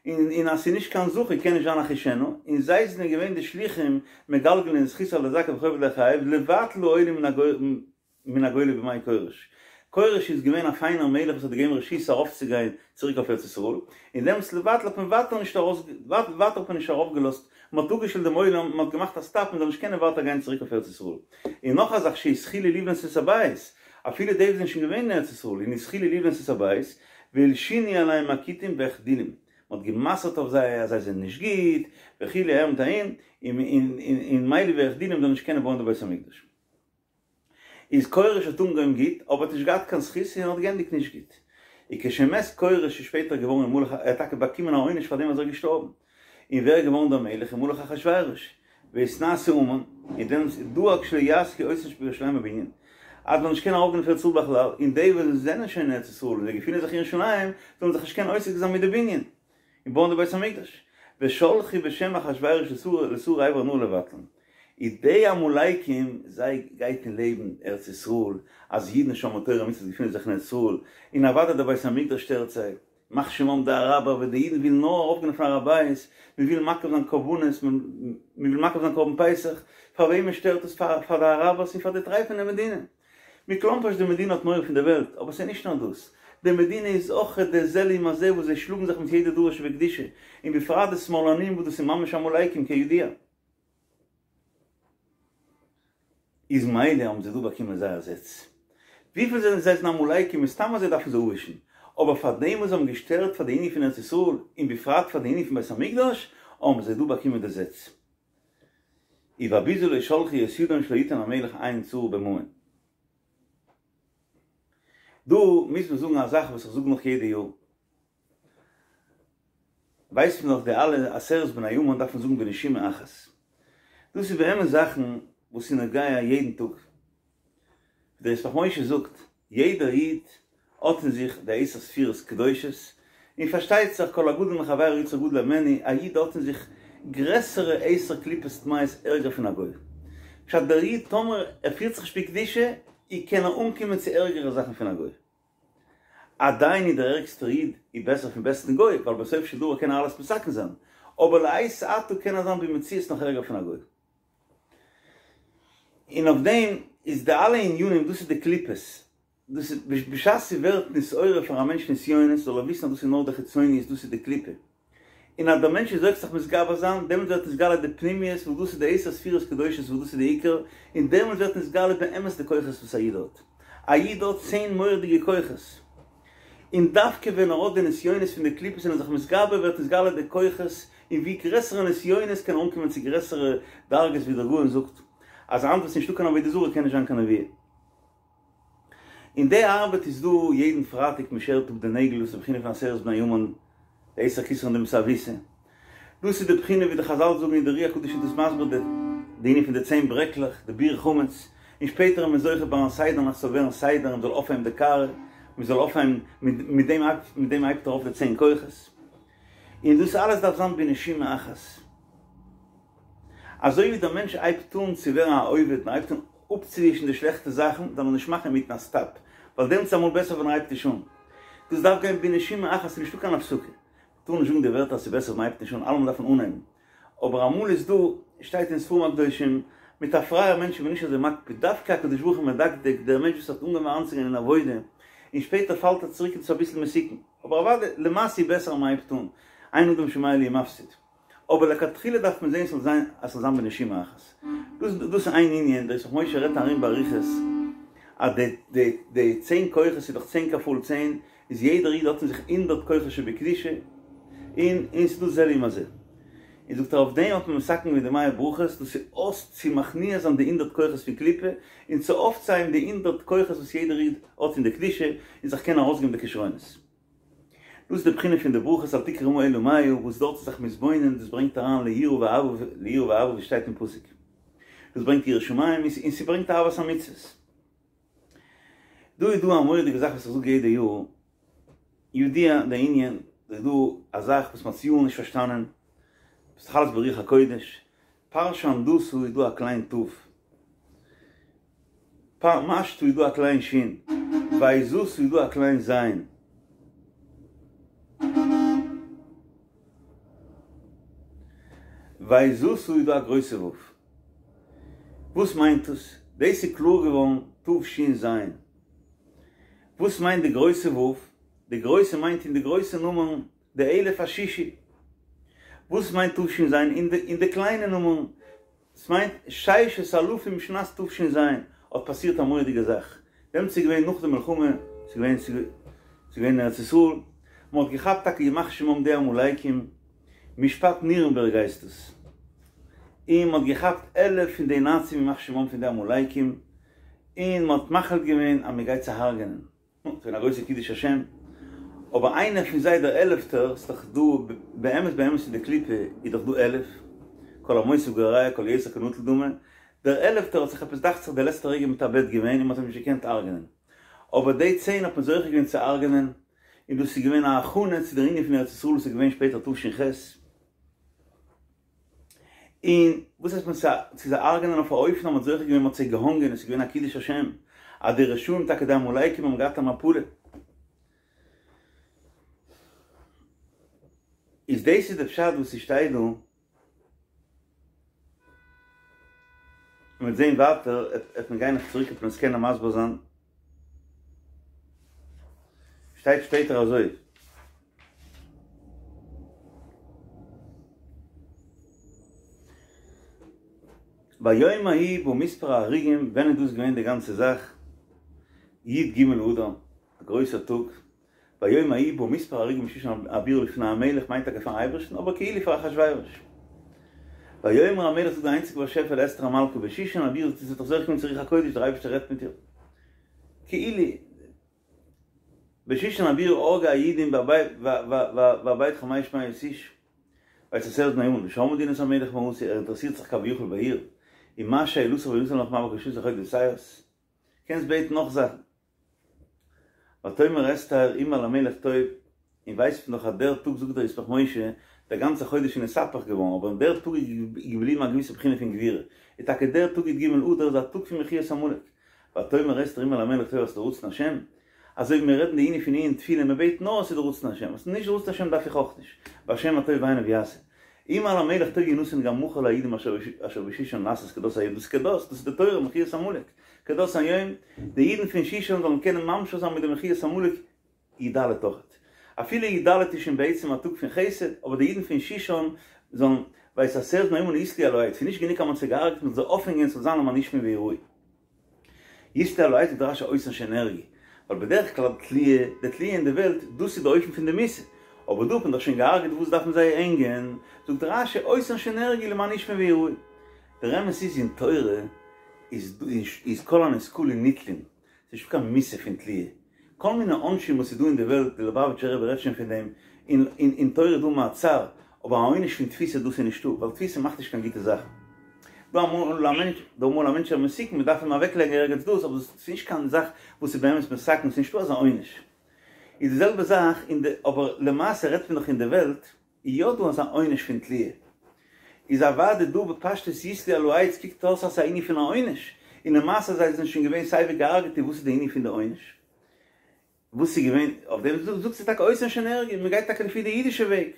און און אז ס'איז נישט קיין זכר קען נישט זיין אחישנה, און זיי זענען געווען די שלוחים מגלגלין זכות על ידי זכאי וחוב על ידי חייב, לבטל העולים מן הגולה בימי כורש. כורש איז געווען א פיינער מלך וואס האט געגעבן רשות ארויפצוגיין צוריק אויף ארץ ישראל, און דעמאלטס לבטל האט מען ווייטער נישט ארויס ווייטער האט מען נישט ארויפגעלאזט, מען האט אפגעשטעלט דעם עולם, מען האט געמאכט א סטאפ מען זאל נישט קענען ווייטער גיין צוריק אויף ארץ ישראל. און נאך א זאך שהתחילו לבנות את הבית, אפילו די וואס זענען שוין געווען אין ארץ ישראל און התחילו לבנות את הבית, והלשינו עליהם הכותים והחדילום, מען האט גע'מסר'ט אויף זיי אז זיי זענען נישט גוט, וכו' אהער מיט אהין, און מילא והחדילום זאלן נישט קענען בויען די בית המקדש. איז כורש האט אנגעהויבן גוט, אבער האט נישט געהאט קיין זכות און האט געענדיגט נישט גוט. וכשמת כורש איז שפעטער געווארן ומלך ער האט טאקע באקומען א עונש פאר דעם אז ער איז געשטארבן. און ווער איז געווארן דער מלך ומלך אחשורוש. ויתנשא המן, און דעמאלטס איז דאג שלא יעסקו אותם שבירושלים בבנין. אז מ'זאל נישט קענען ארויפגיין אויף ארץ ישראל בכלל, און די וואס זענען שוין אין ארץ ישראל און זיי געפינען זיך אין ירושלים, זאלן זיך נישט קענען עוסק זיין מיט די בנין. און בויען די בית המקדש, ושלחו בשם אחשורוש לשרי עבר הנהר לבטלם. איז די עמלקים, זיי גייט אין לעבן ארץ ישראל, אז אידן שומרי תורה ומצוות געפינען זיך אין ארץ ישראל, און אוודאי דער בית המקדש שטערט זיי, ימח שמם די אראבער ווען די אידן ווילן נאר ארויפגיין אויפן הר הבית, מען וויל מקריב זיין קרבנות, מען וויל מקריב זיין קרבן פסח, פאר וועמען שטערט עס? פאר די אראבערס און פאר די טרייפענע מדינה. מכלומרשט די מדינה האט מורא פון די וועלט, אבער ס'איז נישט נאר דאס, די מדינה איז אויך די זה לעומת זה וואס זיי שלאגן זיך מיט יעדע דבר שבקדושה, און בפרט די שמאלנים וואס דאס איז ממש עמלקים כידוע. איז מילא האבן זיי דא באקומען זייער זעץ. וויפיל זענען זיי זענען עמלקים מסתם אז זיי דארפן זיי אפווישן, אבער פאר דעם וואס זיי האבן געשטערט פאר די ענין פון ארץ ישראל, און בפרט פאר די ענין פון בית המקדש, האבן זיי דא באקומען די זעץ. ובביזה לא שלחו את ידם שלא יתן המלך עין צרה בממון. דא מוז מען זאגן א זאך וואס איך זאג נאך יעדע יאר. ווייסט מען דאך די אלע עשרת בני המן דארף מען זאגן בנשימה אחת. דאס איז באמת זאכן וואס איז נוגע יעדן טאג. ווי דער ישמח משה זאגט, יעדער איד האט אין זיך די עשר ספירות קדושות, און פארשטייט זיך כל הגדול מחבירו יצרו גדול הימנו, א איד האט אין זיך גרעסערע עשר קליפות טמאות ערגער פון א גוי. פשט דער איד טאמער ער פירט זיך נישט בקדושה, אי קען ער אנקומען צו ערגערע זאכן פון א גוי. עדיין איז דער ערגסטער איד איז בעסער פון בעסטן גוי, ווייל בסוף של דבר קען ער אלעס מתקן זיין, אבער לעת עתה קען ער זיין במציאות נאך ערגער פון א גוי. און אויף דעם איז די אלע ענינים, דאס איז די קליפות, דאס איז בשעת ס'ווערט נתעורר פאר א מענטש נסיונות זאל ער וויסן אז דאס איז נאר די חיצוניות, דאס איז די קליפה, און אז דער מענטש איז זוכה זיך מתגבר זיין, דעמאלט ווערט נתגלה די פנימיות וואס דאס איז די עשר ספירות קדושות וואס דאס איז די עיקר, און דעמאלט ווערט נתגלה באמת די כוחות וואס א איד האט. א איד האט צען מורא'דיגע כוחות, און דווקא ווען ער האט די נסיונות פון די קליפות און איז זיך מתגבר ווערט נתגלה די כוחות, און ווי גרעסערע נסיונות קען ער אנקומען צו גרעסערע דרגות ווי דער גאון זאגט אז היינט וואס נישטא קיין עבודה זרה קען נישט זיין קיין נבואה. און די ארבעט איז דא יעדן פרייטאג מען שערט אפ די נעגל דאס איז די בחינה פון עשרת בני המן די עשר כתרין דמסאבותא דאס איז די בחינה ווי די חזל זאגן און די אר"י הקדוש איז דאס מסביר די די ענין פון די צען ברעקלעך די ביעור חמץ און שפעטער איז מען זוכה ביים סדר נאכט ס'זאל ווערן סדר און מ'זאל אויפהייבן די קערה מ'זאל אויפהייבן מיט דעם מיט דעם הייבט ער אויף די צען כוחות און דאס אלעס דארף זיין בנשימה אחת. אזוי ווי דער מענטש הייבט אן צו ווערן א עובד און הייבט אן אפצוווישן די שלעכטע זאכן, זאל ער נישט מאכן אינמיטן א סטאפ, ווייל דעמאלטס איז אמאל בעסער ווען ער הייבט נישט אן. דאס דארף גיין בנשימה אחת, ס'איז נישטא קיין הפסקה. מ'טאר נישט זאגן די ווערטער אז ס'איז בעסער ווען מ'הייבט נישט אן, אלעמאל דארף מען אנהייבן. אבער אמאל איז דא, שטייט אין ספרים הקדושים, מיט א פרייער מענטש איז מען נישט אזוי מקפיד, דווקא הקדוש ברוך הוא מדקדק, דער מענטש וואס האט אנגעהויבן אריינצוגיין אין עבודה, און שפעטער פאלט ער צוריק איז דאס אביסל מסוכן. אבער אוודאי, למעשה איז בעסער אז מ'הייבט אן, אין אדם שומע לי ומפסיד. אבער לכתחילה דארף מען זען ס'זאל זיין אז ס'זאל זיין בנשימה אחת. דאס דאס איז איין ענין, דער ישמח משה רעדט ארום באריכות אז די די די צען כוחות איז דאך צען כפול צען, איז יעדער איד האט אין זיך הונדערט כוחות שבקדושה, און און ס'איז דא זה לעומת זה. און זאגט ער אויף דעם האט מען מתקן געווען די מאה ברכות, דאס איז אויס צו מכניע זיין די הונדערט כוחות פון קליפה, און צו אויפצוהייבן די הונדערט כוחות וואס יעדער איד האט אין די קדושה, און זיך קענען ארויסגעבן די כשרונות. דאס איז די בחינה פון די ברכות אל תקרי רמה אלא מאה, וואס דארט איז זיך מתבונן, דאס ברענגט אריין ליראה ואהבה, ליראה ואהבה ווי שטייט אין פסוק. דאס ברענגט יראת שמים און ס'ברענגט אהבת המצוות. דא איז דא א מורא'דיגע זאך וואס איך זאג יעדע יאר, ידוע די ענין, איז דא א זאך וואס מ'האט יארן נישט פארשטאנען, ס'איז דאך אלעס ברוח הקודש, פרשנדתא איז דא א קליין ת', פרמשתא איז דא א קליין שין, ויזתא איז דא א קליין זיין. ויזתא איז דא א גרויסע ו'. וואס מיינט דאס? דאס איז קלאר געווארן תש"ז. וואס מיינט די גרויסע ו'? די גרויסע מיינט אין די גרויסע נומערן די אלף השישי. וואס מיינט תש"ז אין די קליינע נומערן? ס'מיינט ששת אלפים שנת תש"ז האט פאסירט א מורא'דיגע זאך, דעמאלטס איז געווען נאך די מלחמה, ס'איז געווען ס'איז געווען אין ארץ ישראל, מ'האט געכאפט טאקע ימח שמם די עמלקים, משפט נירנבערג הייסט עס, און מ'האט געכאפט עלף פון די נאצים ימח שמם פון די עמלקים, און מ'האט מחליט געווען אז מ'גייט זיי הרג'נען. נו, ס'געווען א גרויסע קידוש השם, אבער איינער פון זיי דער עלעפטער, ס'איז דאך דא, באמת באמת אין די קליפה איז דאך דא עלף, כל המוסיף גורע כל היותר כנטול דמי, דער עלעפטער האט זיך עפעס דאכט זיך די לעצטע רגע מתאבד געווען און מ'האט אים נישט געקענט הרג'נען, אבער די צען האט מען זוכה געווען צו הרג'נען, און דאס איז געווען א הכנה צו דער ענין פון ארץ ישראל וואס איז געווען שפעטער תש"ח. און וואס הייסט מען צו זיי הרג'נען אויף א אופן אז מען האט זוכה געווען מען האט זיי געהאנגען עס איז געווען א קידוש השם אז די רשעים טאקע די עמלקים האבן געהאט א מפלה איז דאס איז די פשט וואס ס'שטייט דא מ'וועט זעהן ווייטער עט מען גיין נאך צוריק עט מען עס קענען מסביר זיין שטייט שפעטער אזוי. ביום ההוא בא מספר ההרוגים, ווען איז דאס געווען די גאנצע זאך? י"ג אדר, א גרויסער טאג, ביום ההוא בא מספר ההרוגים בשושן הבירה לפני המלך מיינט טאקע פארן אייבערשטן אבער כאילו פאר אחשורוש. ויאמר המלך זאגט דער איינציגער באשעפער לאסתר המלכה בשושן הבירה זי האט דאך זוכה געווען צו רוח הקודש דער אייבערשטער רעדט מיט איר כאילו בשושן הבירה הרגו היהודים והאבד חמש מאות איש ואצל עשרת בני המן ושמעה מדינת המלך מה עשו ער אינטערעסירט זיך כביכול בעיר ומה שאלתך וינתן לך ומה בקשתך עוד קענסט בעטן נאך זאכן. ותאמר אסתר אם על המלך טוב, און ווייסט מען דאך אז דער טאג זאגט דער ישמח משה, דער גאנצער חודש איז נתהפך געווארן, אבער אין דער טאג איז געבליבן א געוויסע בחינה פון גבורה, איז טאקע דער טאג י"ג אדר איז א טאג פון מחיית עמלק. ותאמר אסתר אם על המלך טוב אז ס'איז דער רצון השם, אזוי ווי מיר רעדן די ענין פון עיון תפילה, מען בעט נאר אז ס'איז דער רצון השם, אז ס'איז נישט דער רצון השם דארף איך אויך נישט, והשם הטוב בעיניו יעשה. אם על המלך טוב ינתן גם מחר ליהודים אשר בשושן לעשות כדת היום, דאס איז כדת, דאס איז די תורה מחיית עמלק, כדת היום, די אידן פון שושן זאלן קענען ממשיך זיין מיט די מחיית עמלק י"ד אויכעט. אפילו י"ד איז שוין בעצם א טאג פון חסד, אבער די אידן פון שושן זאלן, ואת עשרת בני המן יתלו על העץ, ס'איז נישט גענוג אז מ'האט זיי געהארגעט, מ'זאל זיי אויפהענגען ס'זאל זיין למען ישמעו ויראו. יתלו על העץ זאגט רש"י אותן שנהרגו, ווייל בדרך כלל תליה, די תליה אין די וועלט, דאס איז די אופן פון די מיתה, אבער דא האט מען דאך שוין געהארגעט וואס דארף מען זיי הענגען, זאגט רש"י אותן שנהרגו למען ישמעו ויראו. דער אמת איז אין תורה איז איז כל הנסקלין נתלין, ס'איז נישטא קיין מיתה פון תליה, כל מיני עונשים וואס איז דא אין די וועלט, די ליובאוויטשער רבי רעדט שוין פון דעם, אין אין תורה איז דא מעצר, אבער א עונש פון תפיסה דאס איז נישטא, ווייל תפיסה מאכט נישט קיין גוטע זאכן. דא אמאל א מענטש, דא אמאל א מענטש איז מסוכן, מען דארף אים אוועק לייגן ערגעץ דאס, אבער דאס איז נישט קיין זאך וואס איז באמת מסכן, ס'איז נישטא אזא עונש. איז די זעלבע זאך אין די, אבער למעשה רעדט מען דאך אין די וועלט, איז יא דא אזא עונש פון תליה. איז אוודאי דא בפשטות יתלו על העץ קוקט אויס אז ס'איז א ענין פון א עונש, און למעשה זיי זענען שוין געווען סייווי געהארגעט איז וואס איז די ענין פון די עונש? וואס איז געווען אויף דעם זאגט זי טאקע אותן שנהרגו, מען גייט טאקע לפי די אידישע וועג.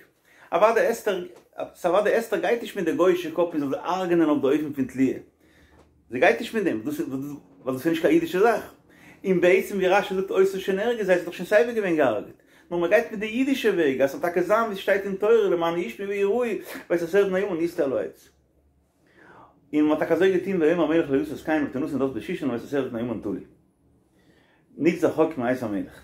אוודאי אסתר, אוודאי אסתר גייט נישט מיט די גוי'אישע קאפ מען זאל זיי הרג'נען אויף די אופן פון תליה. זי גייט נישט מיט דעם, דאס איז ווייל דאס איז נישט קיין אידישע זאך. און בעצם ווי רש"י זאגט אותן שנהרגו, זיי זענען דאך שוין סייווי געווען געהארגעט. נאר מען גייט מיט די אידישע וועג, אז ס'זאל טאקע זיין ווי ס'שטייט אין תורה למען ישמעו ויראו, ואת עשרת בני המן יתלו על העץ. און מען האט טאקע אזוי געטון ויאמר המלך לא לעשות כן ותנתן דת בשושן ואת עשרת בני המן תלו. נגזר חוק מאת המלך.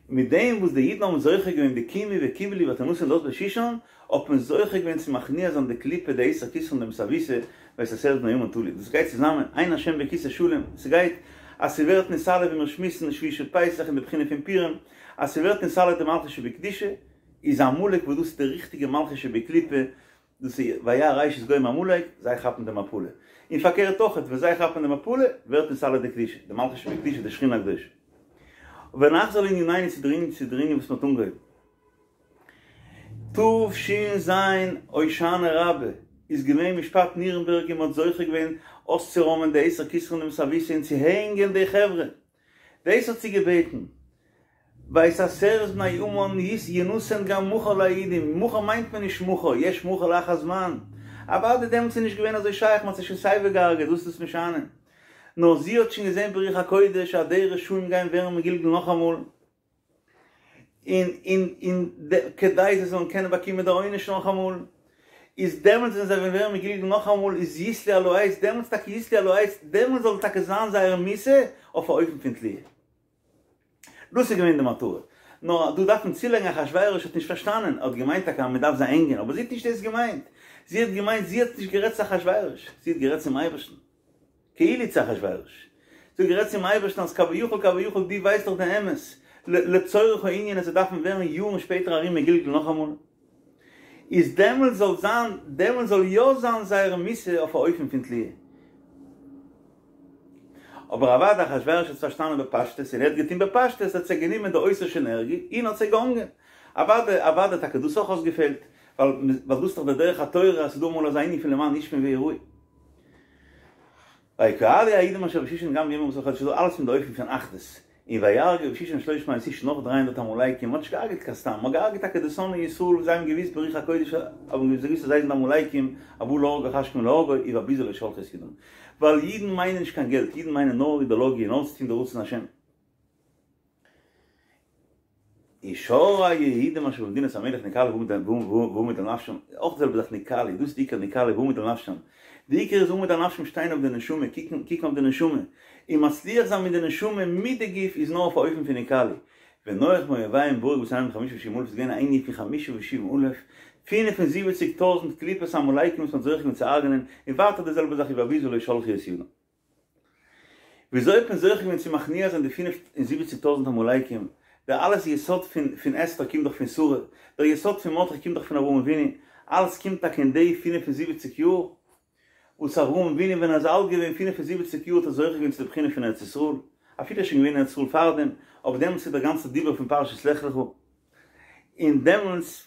מיט דעם וואס די אידן האבן זוכה געווען די קימו וקיבלו ותנתן דת בשושן, האט מען זוכה געווען צו מכניע זיין די קליפה די עשר כתרין דמסאבותא ואת עשרת בני המן תלו. דאס גייט צוזאמען, אין השם בכסא שלם, ס'גייט אז ס'ווערט נתעלה ווי מיר שמועסן שביעי של פסח אין די בחינה פון פורים, אז ס'ווערט נתעלה די מלכות שבקדושה, איז עמלק וואס דאס איז די ריכטיגע מלכות שבקליפה, דאס איז וירא ראשית גוים עמלק, זיי כאפן די מפלה. און פארקערט אויכעט, ווען זיי כאפן די מפלה, ווערט נתעלה די קדושה, די מלכות שבקדושה, די שכינה הקדושה. ונחזור לענינינו צו דער ענין וואס מ'האט אנגעהויבן. תש"ז הושענא רבה איז געווען משפט נירנבערג און מ'האט זוכה געווען אויסצוראמען די עשר כתרין דמסאבותא און צו הענגען די חברה. דאס האט זי געבעטן. ואת עשרת בני המן ינתן גם מחר ליהודים, מחר מיינט מען נישט מחר, יש מחר לאחר זמן. אוודאי דעמאלטס איז נישט געווען אזוי שייך, מ'האט זיי שוין סייווי געהארגעט, וואס איז דאס משנה? נאר זי האט שוין געזען ברוח הקודש אז די רשעים גייען ווערן מגולגל נאכאמאל, און און און כדי זיי זאלן קענען באקומען די עונש נאכאמאל, איז דעמאלטס ווען זיי וועלן ווערן מגולגל נאכאמאל איז יתלו על העץ, דעמאלטס טאקע יתלו על העץ, דעמאלטס זאל טאקע זיין זייער מיתה אויף א אופן פון תליה. דאס איז געווען די מטרה. נאר דא דארף מען צולייגן אחשורוש האט נישט פארשטאנען, ער האט געמיינט טאקע אז מען דארף זיי הענגען, אבער זי האט נישט דאס געמיינט, זי האט געמיינט, זי האט נישט גערעדט צו אחשורוש, זי האט גערעדט צום אייבערשטן. כאילו צו אחשורוש. זי האט גערעדט צום אייבערשטן אז כביכול כביכול דו ווייסט דאך די אמת, לצורך הענין אז זיי דארפן ווערן יארן שפעטער ארום מגולגל נאכאמאל, איז דעמאלטס זאל זיין, דעמאלטס זאל יא זיין זייער מיתה אויף א אופן פון תליה. אבער אוודאי אחשורוש האט עס פארשטאנען בפשטות און ער האט געטון בפשטות, ער האט זיי גענומען די אותן שנהרגו און האט זיי געהאנגען. אוודאי אוודאי טאקע דאס אויך אויסגעפעלט, ווייל ווייל דאס איז דאך די דרך התורה אז ס'איז דא אמאל אזא ענין פון למען ישמעו ויראו. ויקהלו היהודים אשר בשושן גם ביום ארבעה עשר לחודש, ס'איז דא אלעס פון די אופן פון אחדות, און ויהרגו בשושן שלוש מאות איש נאך דרײַ הונדערט עמלקים, מ'האט נישט געהארגעט קיין סתם, מ'האט געהארגעט טאקע די שונאי ישראל וואס זיי האבן געוואוסט ברוח הקודש האבן זיי געוואוסט אז זיי זענען עמלקים, הבא להרגך השכם להרגו, ובביזה לא שלחו את ידם. ווייל אידן מיינען נישט קיין געלט, אידן מיינען נאר אידעלאגיע, נאר צו טון די רצון השם. ושאר היהודים אשר במדינת המלך נקהלו ועמוד על נפשם, אויך די זעלבע זאך נקהלו, דאס איז די עיקר נקהלו ועמוד על נפשם, די עיקר איז עמוד על נפשם שטיין אויף די נשמה, קוקן קוקן אויף די נשמה, און מצליח זיין מיט די נשמה מיט די גוף איז נאר אויף א אופן פון נקהלו, ונוח מאויביהם והרג ושונאיהם חמשה ושבעים אלף איז געווען א ענין פון חמשה ושבעים אלף, פינף און זיבעציג טויזנט קליפות עמלקים וואס מען האט זוכה געווען צו הרג'נען, און ווייטער די זעלבע זאך ובביזה לא שלחו את ידם. וויאזוי האט מען זוכה געווען צו מכניע זיין די פֿינף און זיבעציק טויזנט עמלקים? דער אלעס יסוד פון פון אסתר קומט דאך פון שרה, דער יסוד פון מרדכי קומט דאך פון אברהם אבינו, אלעס קומט טאקע אין די פֿינף און זיבעציק יאר, וואס אברהם אבינו ווען ער איז אלט געווען פֿינף און זיבעציק יאר האט ער זוכה געווען צו די בחינה פון ארץ ישראל, אפילו ער איז שוין געווען אין ארץ ישראל פארדעם, אבער דעמאלטס איז דער גאנצער דיבור פון פרשת לך לך, און דעמאלטס.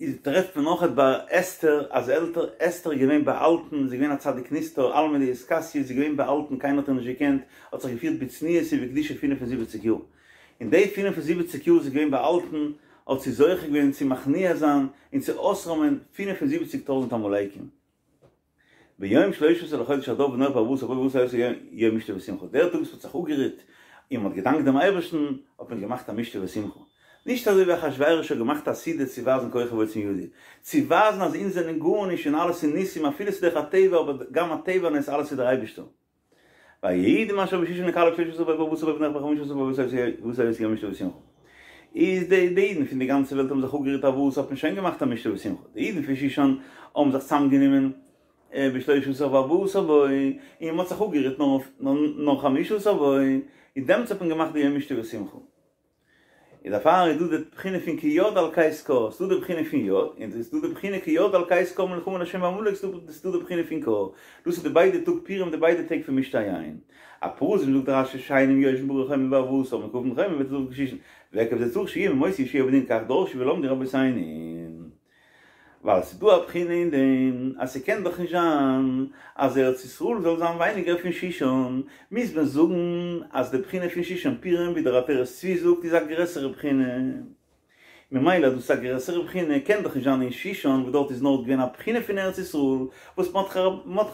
איז טרעפט מען נאכעט ביי אסתר אז עלטער אסתר איז געווען באהאלטן, זי איז געווען א צדיק נסתר, עלמא דאתכסיא, זי איז געווען באהאלטן קיינער האט איר נישט געקענט, האט זיך געפירט בצניעות ובקדושה פֿינף און זיבעציק יאר, אין די פֿינף און זיבעציק יאר זי איז געווען באהאלטן האט זי זוכה געווען צו מכניע זיין און צו אויסראמען פֿינף און זיבעציק טויזנט עמלקים. ביום שלשה עשר לחודש אדר ונוח בארבעה עשר בו בארבעה עשר יום משתה ושמחה, דער טאג וואס מ'האט זיך אפגערוט, און מ'האט געדאנקט דעם אייבערשטן, האט מען געמאכט א משתה ושמחה. נישט אזוי ווי אחשורוש האט געמאכט א סעודה צו ווייזן כוחי ועוצם ידי, צו ווייזן אז אונז זענען גארנישט און אלעס איז ניסים אפילו ס'איז דורך הטבע אבער גם הטבע נס אלעס איז דער אייבערשטער. והיהודים אשר בשושן נקהלו בשלשה עשר בו ובארבעה עשר בו ונערך בחמשה עשר בו ועשו יום משתה ושמחה. איז די די אידן פון די גאנצע וועלט האבן זיך אפגערירט ארבעה עשר האט מען שוין געמאכט א משתה ושמחה. די אידן פון שושן האבן זיך צוזאמגענומען בשלשה עשר וארבעה עשר בו, און מ'האט זיך אפגערירט נאר חמשה עשר בו, און דעמאלטס האט מען געמאכט די יום משתה ושמחה. איז דערפאר איז דא די בחינה פון כיד על כס קה, ס'דא די בחינה פון יד, און ס'איז דא די בחינה כיד על כס קה מלחמה לה' בעמלק, ס'איז דא די בחינה פון קה, דאס איז די ביידע טאג פורים די ביידע טעג פון משתה היין. הפרזים זאגט רש"י שאינם יושבים בערי חומה בארבעה עשר ומוקפים חומה בט"ו בשושן, ועקב זה צריך שיהיה מימות יהושע בן נון כך דרשו ולמדו רבותינו. ווייל ס'איז דא א בחינה אין דעם אז ס'קען דאך נישט זיין אז ארץ ישראל זאל זיין ווייניגער פון שושן, מוז מען זאגן אז די בחינה פון שושן פורים ווי דער עטרת צבי זאגט איז א גרעסערע בחינה, ממילא אז דאס איז א גרעסערע בחינה קען דאך נישט זיין אין שושן וואס דארט איז נאר געווען א בחינה פון ארץ ישראל וואס מרדכי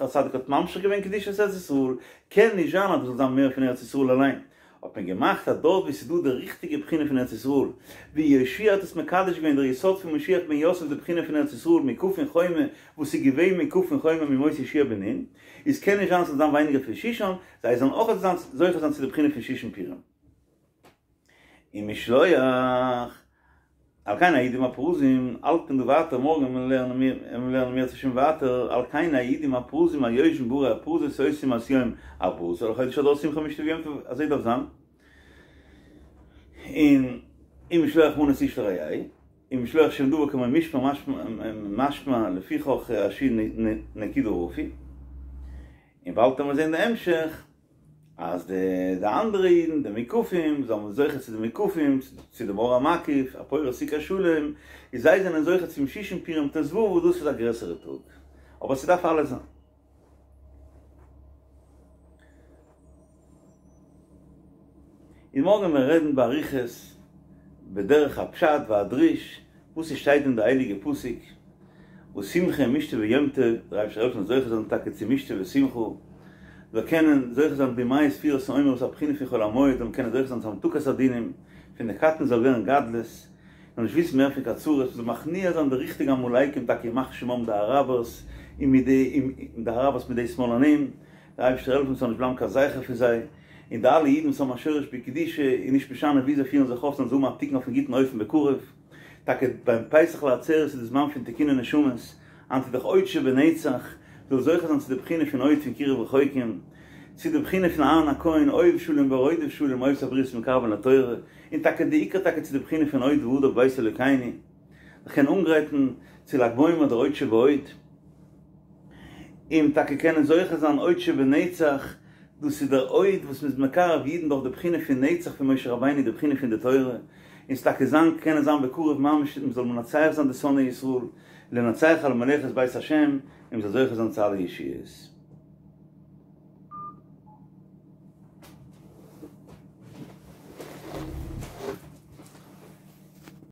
הצדיק האט ממשיך געווען קדושת ארץ ישראל, קען נישט זיין אז דאס זאל זיין מער פון ארץ ישראל אליין. האט מען געמאכט אז דארט ווי ס'איז דא די ריכטיגע בחינה פון ארץ ישראל, ווי יהושע האט עס מקדש געווען דער יסוד פון משיח בן יוסף די בחינה פון ארץ ישראל מוקפין חומה וואס איז געווען מוקפין חומה מימות יהושע בן נון, איז קען נישט זיין ס'זאל זיין ווייניגער פון שושן, זיי זאלן אויך זיין זוכה זיין צו די בחינה פון שושן פורים. און משלוח. על כן היהודים הפרוזים, האלט מען דא ווייטער, מארגן וועלן מיר לערנען מיר לערנען אם ירצה השם ווייטער, על כן היהודים הפרוזים היושבים בערי הפרזות עושים את יום ארבעה עשר לחודש אדר שמחה ומשתה ויום טוב, אזוי דארף זיין, און ומשלוח מנות איש לרעהו, ומשלוח שם דבר כמו משמר משמע לפיכך השין נקודה רפי, און באלד וועלן מיר זען די המשך. אז די די אנדערע אידן, די מוקפים, זאלן זוכה צו די מוקפים, צו דעם אור המקיף, הפורס סוכת שלום, איז זיי זענען זוכה צום שושן פורים ט"ו וואס דאס איז א גרעסערע טאג. אבער ס'דארף אלעס זיין. און מארגן וועלן מיר רעדן באריכות בדרך הפשט והדרוש וואס עס שטייט אין די הייליגע פסוק ושמחה משתה ויום טוב, דער אייבערשטער העלפן זוכה זיין טאקע צו משתה ושמחה, זאל קענען זוכה זיין בימי ספירת העומר וואס איז א בחינה פון חול המועד, זאל מען קענען זוכה זיין צו המתקת הדינים, פון די קטנות זאל ווערן גדלות, זאל נישט וויסן מער פון קיין צרות, מ'זאל מכניע זיין די ריכטיגע עמלקים טאקע ימח שמם די אראבערס און מיט די די אראבערס מיט די שמאלנים, דער אייבערשטער העלפן ס'זאל נישט בלייבן קיין זכר פון זיי, און די אלע אידן וואס האבן א שורש בקדושה און נישט משנה ווי זיי פירן זיך אויף זאלן זיי האבן א תיקון אויפן גוטן אופן בקרוב. טאקע ביים פסח לעצרת איז די זמן פון תיקוני נשמות, היינט איז דאך הוד שבנצח, זאל זוכה זיין צו די בחינה פון הוד פון קירוב רחוקים, צו די בחינה פון אהרן הכהן אוהב שלום ורודף שלום אוהב את הבריות ומקרבן לתורה, און טאקע די עיקר טאקע צו די בחינה פון הוד והדר בבית אלוקינו, זיך קענען אנגרייטן צו ל"ג בעומר דער הוד שבהוד, און טאקע קענען זוכה זיין הוד שבנצח, דאס איז דער הוד וואס מ'איז מקרב אידן דורך די בחינה פון נצח פון משה רבינו די בחינה פון די תורה, און ס'טאקע זיין קענען זיין בקרוב ממש מ'זאל מנצח זיין די שונאי ישראל, לנצח על מלאכת בית השם, און מ'זאל זוכה זיין צו אלע ישועות.